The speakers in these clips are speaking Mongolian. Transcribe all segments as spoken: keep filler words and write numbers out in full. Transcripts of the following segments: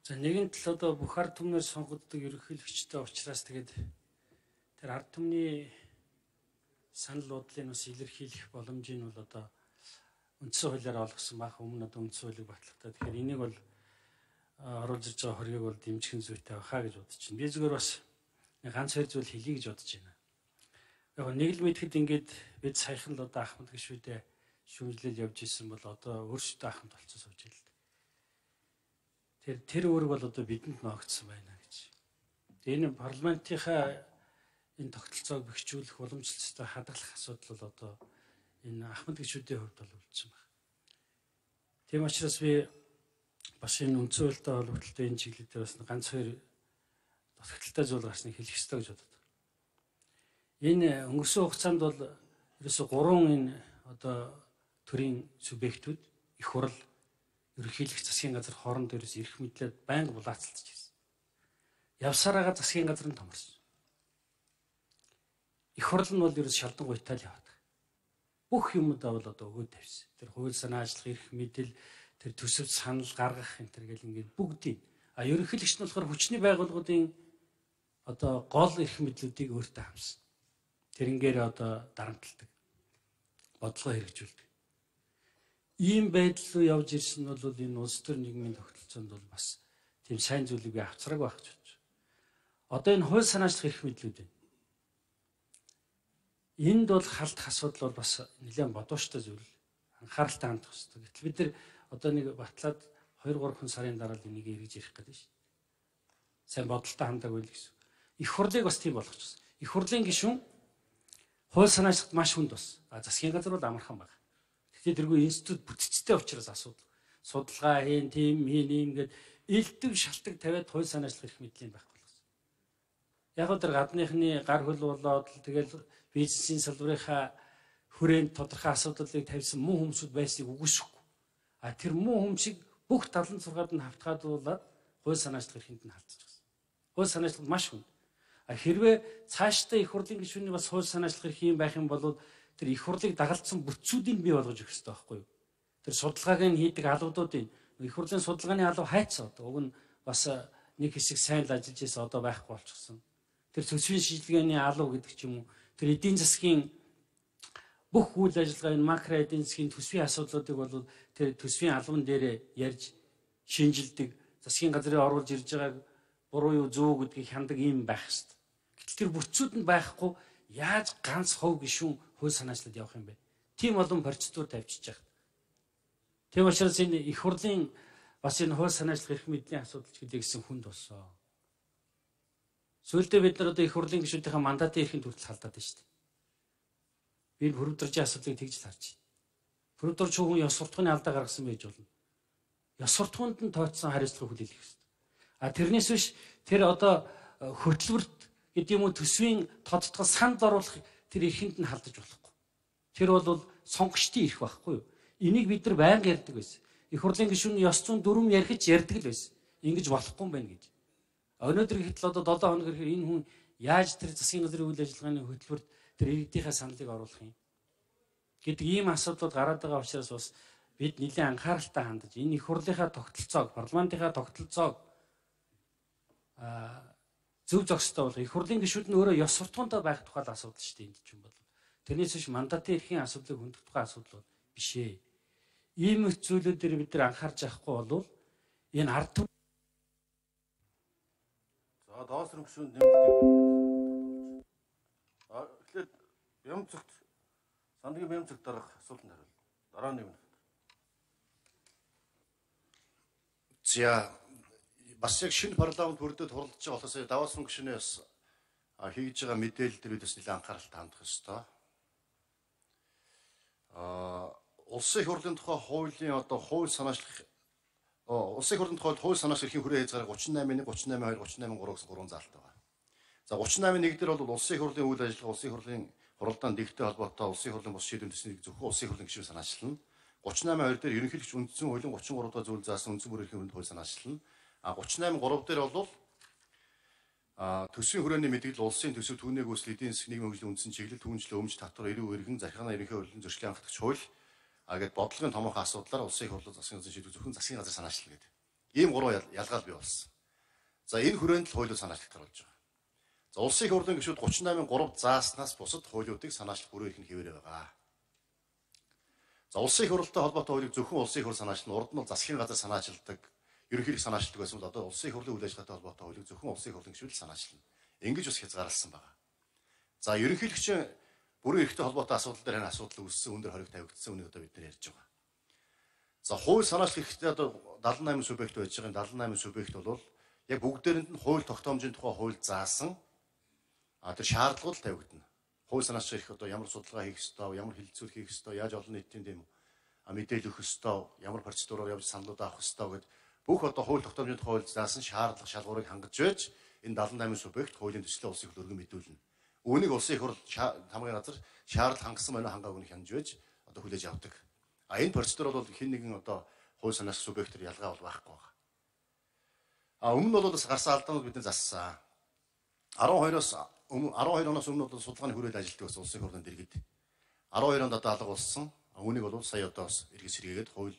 За нэгэн тал одоо бүх ард түмнээр сонгогддог ерөнхийлөгчтэй учраас тэгээд тэр ард түмний санал бодлыг бас илэрхийлэх боломжийг бол одоо үндсэн хуулиар олгосон байх. Өмнө одоо үндсэн хуулийг батлахтаа тэгэхээр энийг бол оруулж ирж байгаа хоргийг бол дэмжих зүйтэй байхаа гэж бодож байна. Би зүгээр бас ганц хоёр зүйл хэлье гэж бодож байна. Яг нэг л мэдхэд ингээд бид саяхан л одоо Ахмад гишүүдээ шүүмжлэл явж исэн бол одоо өөрсдөө Ахмад болцсон сууж ийл. Тэр тэр үүрэг бол одоо бидэнд ногдсон байна гэж. Энэ парламентынхаа энэ тогтолцоог бэхжүүлэх уламжлалцтай хадгалах асуудал бол одоо энэ Ахмад гишүүдийн хувьд бол үлдсэн байна. Тийм учраас би бас энэ үндсэн хуультай холбогдлоо энэ чиглэлээр бас ганц хоёр дутагдaltaй зүйл гарсныг хэлэх ёстой гэж боддог. Энэ өнгөрсөн хугацаанд бол ерөөсө гурван энэ одоо төрийн субъектүүд их хурл, ерөнхийлөгч, засгийн газар хооронд ерөөс эрх мэдлээд байнга булаацалдаж ирсэн. Явсараагаа засгийн газар нь томорсон. Их хурл нь бол ерөөс шалдангуйтай л яваад. Бүх юмудаа бол одоо өгөөд тавьсан. Тэр хууль санаа ажиллах эрх мэдэл, тэр төсөв санал гаргах энэ төр гэл ингээд бүгдийг. А ерөнхийлөгч нь болохоор хүчний байгууллагуудын одоо гол эрх мэдлүүдийг өөртөө хамсан. Тэрнгээр одоо дарамталдаг. Бодлого хэрэгжүүлдэг. Ийм байдал руу явж ирсэн нь бол энэ улс төр нийгмийн тогтолцоонд бол бас тийм сайн зүйлийг би авчраг байх гэж бодож байна. Одоо энэ хууль санаачлах эрх мэдлүүд байна. Энд бол халдах асуудал бол бас нэлээд бодоочтой зүйл. Анхааралтай хандах хэрэгтэй. Гэтэл бид нар одоо нэг батлаад хоёр гурван сарын дараа л энийг эргэж ирэх гэдэг шүү. Сайн бодолтой хандаг байл гэсэн. Их хурлыг бас тийм болгочихсон. Их хурлын гишүүн хууль санаачлагт маш хүнд бас. А засгийн газар бол амархан байна. Гэхдээ тэргүй институт бүтцтэй учраас асуудал. Судалгаа хийн, тийм хийн юм гээд элдв шалтгаан тавиад хууль санаачлах эрх мэдлийн байхгүй болгосон. Яг л тэр гадныхны гар хөл болоод тэгэл бизнесийн салбарынхаа хүрээнд тодорхой асуудлыг тавьсан муу хүмүүсүүд байсныг үгүйсэхгүй. А тэр муу хүмүүсийг бүх талан зургаад нь хавтгаадуулаад хууль санаачлах эрхэнд нь халдчих гэсэн. Хууль санаачлал маш хүнд. А хэрвээ цаашдаа их хурлын гишүүний бас хууль санаачлах эрх юм байх юм бол тэр их хурлыг дагалдсан бүтцүүдийг бий болгож өгөх хэрэгтэй байхгүй юу? Тэр судалгааг нь хийдэг албадуудын их хурлын судалгааны алба хайцсан одоо уг нь бас нэг хэсэг сайн л ажиллаж байсан одоо байхгүй болчихсон. Тэр төсвийн шийдвэрийн алба гэдэг ч юм уу тэр эдийн засгийн бүх үйл ажиллагаа энэ макро эдийн засгийн төсвийн асуудлуудыг бол тэр төсвийн албан дээр ярьж шинжилдэг засгийн газрын оруулж ирж байгааг буруу юу зөв гэдгийг хяндаг юм байх хэрэгтэй. Гэтэл тэр бүтцүүд нь байхгүй яаж ганц хов гишүүн хууль санаачлалд явах юм бэ? Тийм олон процедур тавьчихж байгаа. Тийм учраас энэ их хурлын бас энэ хууль санаачлах эрх мэдлийн асуудал ч гэдэг гэсэн хүнд болсон. Сүүлдээ бид нар одоо их хурлын гишүүдийнхээ мандатын эрхэнд хүртэл халдаад байна шүү дээ. Би энэ хөрөвдөржийн асуудлыг тэгж л харж байна. Хөрөвдөрч хүн ёс суртахууны алдаа гаргасан байж болно. Ёс суртахуунд нь тооцсон хариуцлага хүлээх хэрэгтэй. А тэрнээс биш тэр одоо хөтөлбөрт гэдэг юм уу төсвийн тодтгол санд оруулах тэр эрхэнд нь халдаж болохгүй. Тэр бол сонгогчдын эрх байхгүй юу? Энийг бид нар байнга ярьдаг байсан. Их хурлын гишүүн ёс зүйн дүрм ярих ярьдаг л байсан. Ингэж болохгүй юм байна гэж. Өнөөдөр гэтэл одоо долоо хоног ирэхээр энэ хүн яаж тэр засгийн газрын үйл ажиллагааны хөтөлбөрт тэр иргэдийнхээ саналыг оруулах юм гэдэг ийм асуудлууд гараад байгаа учраас бас бид нэлээд анхааралтай хандаж энэ их хурлынхаа тогтолцоог, парламентынхаа тогтолцоог а зөв зохистой болох их хурлын гишүүд нь өөрөө ёс суртахуунтай байх тухай асуудал шүү дээ энд чинь бол. Тэрнээс биш мандатын эрхийн асуудлыг хөндөх тухай асуудал биш ээ. Ийм зүйлүүдээр бид нар анхаарч явахгүй бол энэ ард түмэн за доос руу гүшүүнд нэмэлт а эхлээд бям цогт сандрын бям цогт дарах асуултанд хариулна. Дараа нь нэмнэ. За бас яг шинэ парламент бүрдээд хуралдаж байгаа болохоос даваасан гишүүнээс хийж байгаа мэдээлэл дээр бас нэлээд анхааралтай хандах ёстой. А улсын их хурлын тухай хуулийн одоо хууль санаачлах улсын их хурлын тухай хууль санаачлах эрхийн хүрээ хязгаар гучин наймын нэг, гучин наймын хоёр, гучин наймын гурав гэсэн гурван заалтай байна. За гучин наймын нэг дээр бол улсын их хурлын үйл ажиллагаа улсын их хурлын хуралдаанд дэгтэй холбоотой улсын их хурлын бус шийдвэрийн төснийг зөвхөн улсын их хурлын гишүүн санаачлална. гучин наймын хоёр дээр ерөнхийлөгч үндсэн хуулийн гучин гурав дахь зүйл заасан үндсэн бүр эрхийн хууль санаачлална. А гучин наймын гурав дээр бол а төсвийн хүрээний мэдээлэл улсын төсөв түүнийг үүсэл эдийн засгийн нийгмийн хөгжлийн үндсэн чиглэл түүнчлэн өмч татвар эрүү эргэн захиргааны ерөнхий хурлын зөрчлийн хангалтч хууль а гэд бодлогын томоохон асуудлаар улсын их хурлын засгийн газрын шийдвэр зөвхөн засгийн газар санаачлал гэдэг. Ийм гурван ялгаал бий болсон. За энэ хүрээнд л хуулийг санаачлах гарч байгаа. За улсын их хурлын гишүүд гучин восемь гурав зааснаас бусад хуулиудыг санаачлах бүрэн эрх нь хэвээрээ байгаа. За улсын их хурлтай холбоотой хуулийг зөвхөн улсын их хурл санаачлан урд нь засгийн газар санаачилдаг, ерөнхийлөг санаачилдаг байсан бол одоо улсын их хурлын үйл ажиллагаатай холбоотой хуулийг зөвхөн улсын их хурлын гишүүд санаачлана. Ингэж бас хязгаарласан байгаа. За ерөнхийлөгчийн бүрэн эрхтэй холбоотой асуудал дээр энэ асуудал үүссэн, өндөр хориг тавигдсан үнийг одоо бид нэр ярьж байгаа. За хууль санаачлах хэрэгтэй одоо дадлан восемь субъект байж байгаа. дадлан восемь субъект бол яг бүгдээрэнд нь хууль тогтоомжийн тухай хууль заасан а тэр шаардлагууд тавигдана. Хууль санаачлах их одоо ямар судалгаа хийх ёстой, ямар хилцүүл хийх ёстой, яаж олон нийтийн дэм мэдээлэл өгөх ёстой, ямар процедураар явж саналууд авах ёстой гэдэг бүх одоо хууль тогтоомжийн тухай хууль заасан шаардлага шалгуурыг хангаж байж энэ дадлан восемь субъект хуулийн төслийн улсын их хурл өргөн мэдүүлнэ. Үүнийг улсын их хурл хамгийн газар шаардлага хангасан байна хангаагүй нь хянаж байж одоо хүлээж авдаг. А энэ процедур бол хэн нэгэн одоо хууль санаачлах субъектээр ялгаа бол байхгүй байна. А өмнө нь бол бас гарсан алдаанууд бидний зассан. арван хоёроос өмнө арван хоёр оноос өмнө бол судалгааны хүрээлэн ажилтдаг байсан улсын их хурлын дэргэд. арван хоёр онд одоо алга болсон. Үүнийг бол сая одоо эргэж сэргээгээд хууль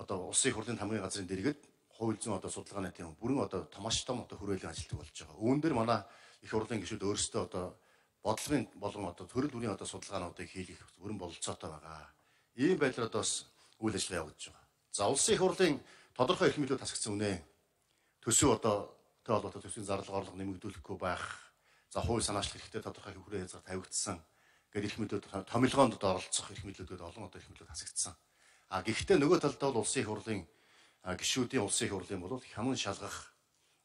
одоо улсын их хурлын хамгийн газрын дэргэд хууль зүйн одоо судалгааны тийм бүрэн одоо томооч том одоо хүрээлэн ажилтдаг болж байгаа. Үүн дээр манай их хурлын гишүүд өөрсдөө одоо бодлогын болон одоо төрөл бүрийн одоо судалгаануудыг хийх бүрэн бололцоотой байгаа. Ийм байдлаар одоо бас үйл ажиллагаа явагдаж байгаа. За улсын их хурлын тодорхой эрх мэдэлүүд хасагдсан үнэ. Төсөв одоо тэ холбоотой төсвийн зарлага орлого нэмэгдүүлэхгүй байх. За хууль санаачлах хэрэгтэй тодорхой хүрээ хязгаар тавигдсан. Гэт эрх мэдлүүд томилгоонд одоо оролцох эрх мэдлүүд олон одоо эрх мэдлүүд хасагдсан. А гэхдээ нөгөө талдаа бол улсын их хурлын гишүүдийн улсын их хурлын бол хяман шалгах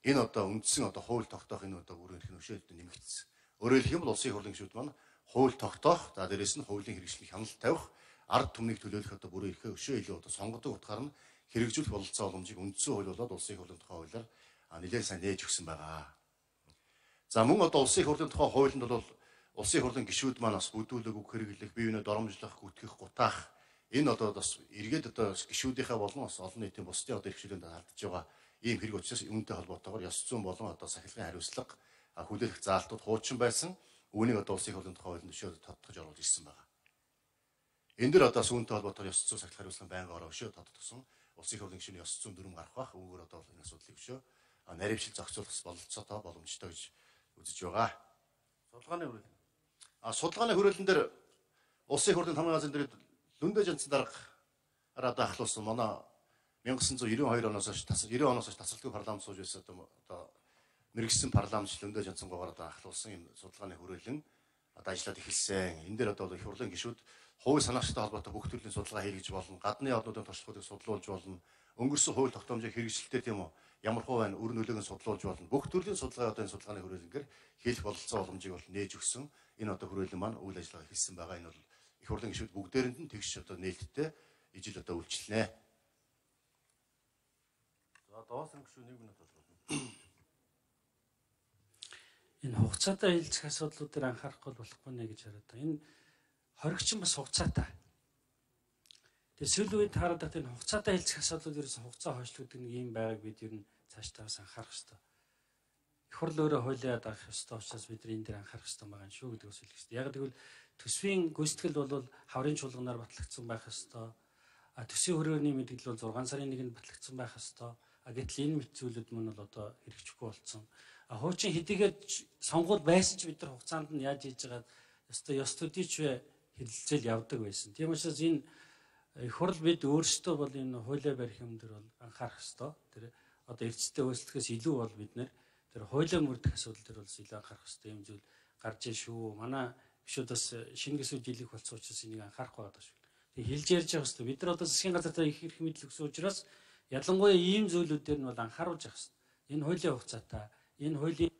энэ одоо үндсэн одоо хууль тогтоох энэ одоо бүрэн эрх нөхшөөд нэмэгдсэн. Өөрөөр хэлэх юм бол улсын их хурлын гишүүд маань хууль тогтоох, за дээрэс нь хуулийн хэрэгжлийг хяналт тавих, ард түмнийг төлөөлөх одоо бүрэн эрхээ өшөө илүү одоо сонгодог утгаар нь хэрэгжүүлэх бололцоо боломжийг үндсэн хууль болоод улсын их хурлын тухай хуулиар нэлээд сайн нээж өгсөн байгаа. За мөн одоо улсын их хурлын тухай хуулинд бол улсын их хурлын гишүүд маань бас бүдүүлэг үг хэрэглэх, бие биенээ доромжлох, гүтгэх, гутаах энэ одоо бас эргээд одоо гишүүдийнхээ болон бас олон нийтийн бусдын одоо эрхчлэлд алдаж байгаа ийм хэрэг учраас үүнтэй холбоотойгоор ёс зүйн болон одоо сахилгын хариуцлага хүлээлгэх заалтууд хуучин байсан. Үүнийг одоо улсын их хурлын тухай хуулинд өшөө тодтогч оруулж ирсэн байгаа. Энэ дэр одоо үүнтэй холбоотойгоор ёс зүйн сахилгын хариуцлага байнгаараа өшөө тодтогсон. Улсын их хурлын гишүүний ёс зүйн дүрм гарах бах. Үүгээр одоо энэ асуудлыг өшөө нарившил зохицуулах бололцоотой боломжтой гэж үзэж байгаа. Судалгааны хүрээлэн. А судалгааны хүрээлэн дээр улсын их хурлын хамгийн газрын дэргэд Лүндэ жанцсан дарга одоо ахлуулсан манай 천구 девяносто хоёр оноос хойш девяносто оноос хойш тасралтгүй парламент сууж байсан одоо мэрэгсэн парламент Лүндэ жанцсангуугаар одоо ахлуулсан энэ судалгааны хүрээлэн одоо ажиллаад эхэлсэн. Энэ дээр одоо их хурлын гишүүд хууль санаачтай холбоотой бүх төрлийн судалгаа хийгдэж болно. Гадны орнуудын туршлагуудыг судлуулж болно. Өнгөрсөн хууль тогтоомжийн хэрэгжилтээр тийм үү ямар хуу байна өр нөлөөг нь судлуулж болно. Бүх төрлийн судалгаа одоо энэ судалгааны хүрээлэнгээр хийх бололцоо боломжийг бол нээж өгсөн. Энэ одоо хүрээлэн маань үйл ажиллагаа хийсэн байгаа. Энэ бол их хурлын гишүүд бүгдээрэнд нь тэгш одоо нээлттэй ижил одоо үйлчлэнэ. За доос нэг гишүүд нэг минут болно. Энэ хугацаатай хилцэх асуудлууд дээр анхаарахгүй болохгүй нэ гэж хараад байна. Энэ хоригчин бас хугацаатай. Тэгээ сүүлийн үед хараад байгаа энэ хугацаатай хилцэх асуудлууд ерөөс хугацаа хойшлуулдаг нэг юм байгааг бид ер нь цаашдаа бас анхаарах хэрэгтэй. Их хурл өөрөө хуулиад авах ёстой учраас бид энэ дээр анхаарах хэрэгтэй байгаа юм шүү гэдэг бас хэлэх хэрэгтэй. Яг тэгвэл төсвийн гүйцэтгэл бол хаврын чуулганаар батлагдсан байх ёстой. А төсвийн хөрөөний мэдээлэл бол зургаан сарын нэгэнд батлагдсан байх ёстой. А гэтэл энэ мэт зүйлүүд мөн бол одоо хэрэгжихгүй болсон. А хуучин хэдийгээр сонгуул байсан ч бид нар хугацаанд нь яаж хийж байгаа ёстой ёс төдийч хэлэлцэл явдаг байсан. Тийм учраас энэ их хурл бид өөрсдөө бол энэ хуулиа барих юм дээр бол анхаарах ёстой. Тэр одоо эрсдэлтэй хөөслөхөөс илүү бол бид нэр тэр хуулиа мөрдөх асуудал дээр бол илүү анхаарах ёстой юм зүйл гарч ийн шүү. Манай гишүүд бас шинэ гисүүд жилиг болсон учраас энийг анхаарах байгаа шүү. Тэг хэлж ярьж байгаа ёстой. Бид нар одоо засгийн газартаа их эрх мэдэл өгсөн учраас ялангуяа ийм зүйлүүд дээр нь бол анхааруулж явах ёстой. Энэ хуулийн хугацаатай, энэ хуулийн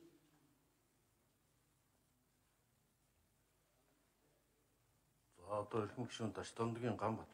За одоо эрхэм гишүүн Дашдомдгийн Ганбат